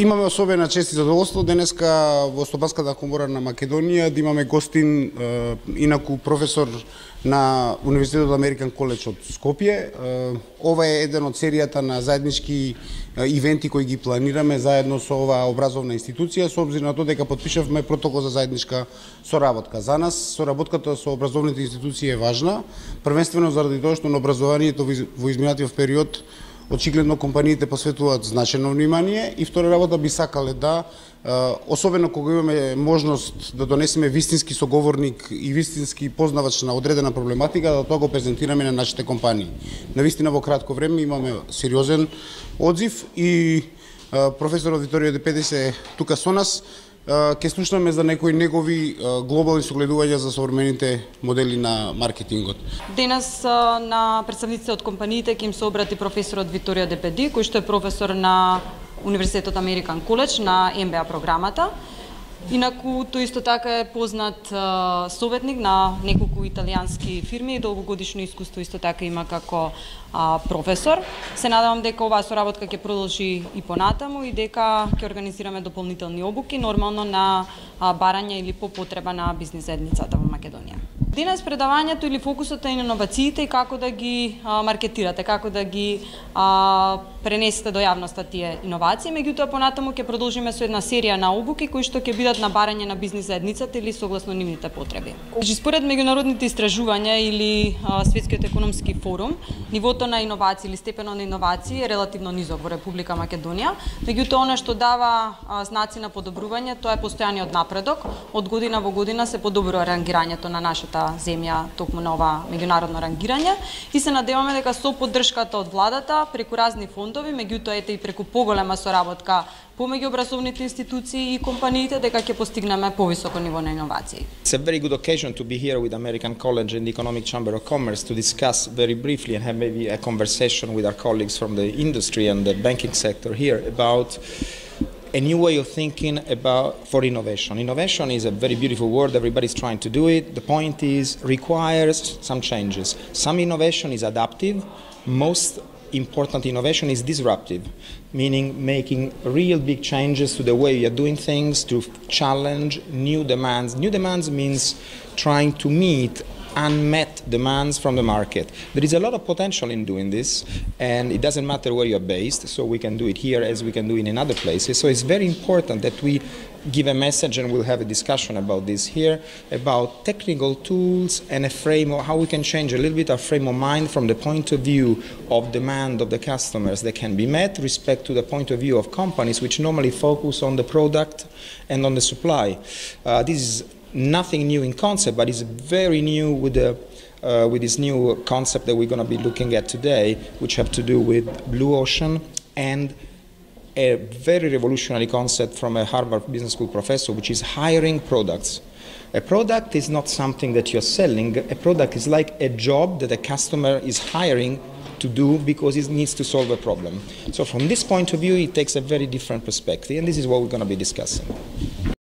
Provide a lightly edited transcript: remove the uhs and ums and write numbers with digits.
Имаме особена чест и задоволство денеска во Стопанската комора на Македонија да имаме гостин инаку професор на Универзитетот Американ Коледж од Скопје. Ова е еден од серијата на заеднички ивенти кои ги планираме заедно со оваа образовна институција, со обзир на тоа дека потпишавме протокол за заедничка соработка. За нас соработката со образовните институции е важна, првенствено заради тоа што на образованието во изминатиот период очигледно компаниите посветуваат значајно внимание и втора работа би сакале да, особено кога имаме можност да донесеме вистински соговорник и вистински познавач на одредена проблематика, да тоа го презентираме на нашите компании. Навистина во кратко време имаме сериозен одзив и професорот Виторио Де Педис е тука со нас. Ке слушнеме за некои негови глобални согледувања за современите модели на маркетингот. Денес на представниците од компаниите ќе им се обрати професорот Виторио Де Педис, кој што е професор на Универзитетот Американ Коледж на MBA програмата. Инаку тој исто така е познат советник на неколку италијански фирми и долгогодишно искуство исто така има како професор. Се надевам дека оваа соработка ќе продолжи и понатаму и дека ќе организираме дополнителни обуки, нормално на барање или по потреба на бизнис заедницата во Македонија. Денес предавањето или фокусот е на иновациите и како да ги маркетирате, како да ги пренесете до јавноста тие иновации. Меѓутоа понатаму ќе продолжиме со една серија на обуки кои што ќе бидат на барање на бизнис заедницата или согласно нивните потреби. Според меѓународните истражувања или Светскиот економски форум, нивото на иновации или степенот на иновации е релативно низок во Република Македонија. Меѓутоа она што дава знаци на подобрување, тоа е постојаниот напредок. Од година во година се подобрува рангирањето на нашата земја токму на ова меѓународно рангирање и се надеваме дека со поддршката од владата преку разни фондови, меѓутоа ете и преку поголема соработка помеѓу образовните институции и компаниите дека ќе постигнеме повисоко ниво на иновации. It's a very good occasion to be here with American College and the Economic Chamber of Commerce to discuss very briefly and have maybe a conversation with our colleagues from the industry and the banking sector here about a new way of thinking for innovation. Innovation is a very beautiful word, everybody's trying to do it. The point is, requires some changes. Some innovation is adaptive, most important innovation is disruptive, meaning making real big changes to the way we are doing things to challenge new demands. New demands means trying to meet unmet demands from the market. There is a lot of potential in doing this, and it doesn't matter where you are based, so we can do it here as we can do it in other places. So it's very important that we give a message, and we'll have a discussion about this here, about technical tools and a frame of how we can change a little bit our frame of mind from the point of view of demand of the customers that can be met, respect to the point of view of companies which normally focus on the product and on the supply. This is nothing new in concept, but it's very new with this new concept that we're going to be looking at today, which have to do with blue ocean and a very revolutionary concept from a Harvard Business School professor, which is hiring products. A product is not something that you're selling. A product is like a job that a customer is hiring to do because it needs to solve a problem. So from this point of view, it takes a very different perspective, and this is what we're going to be discussing.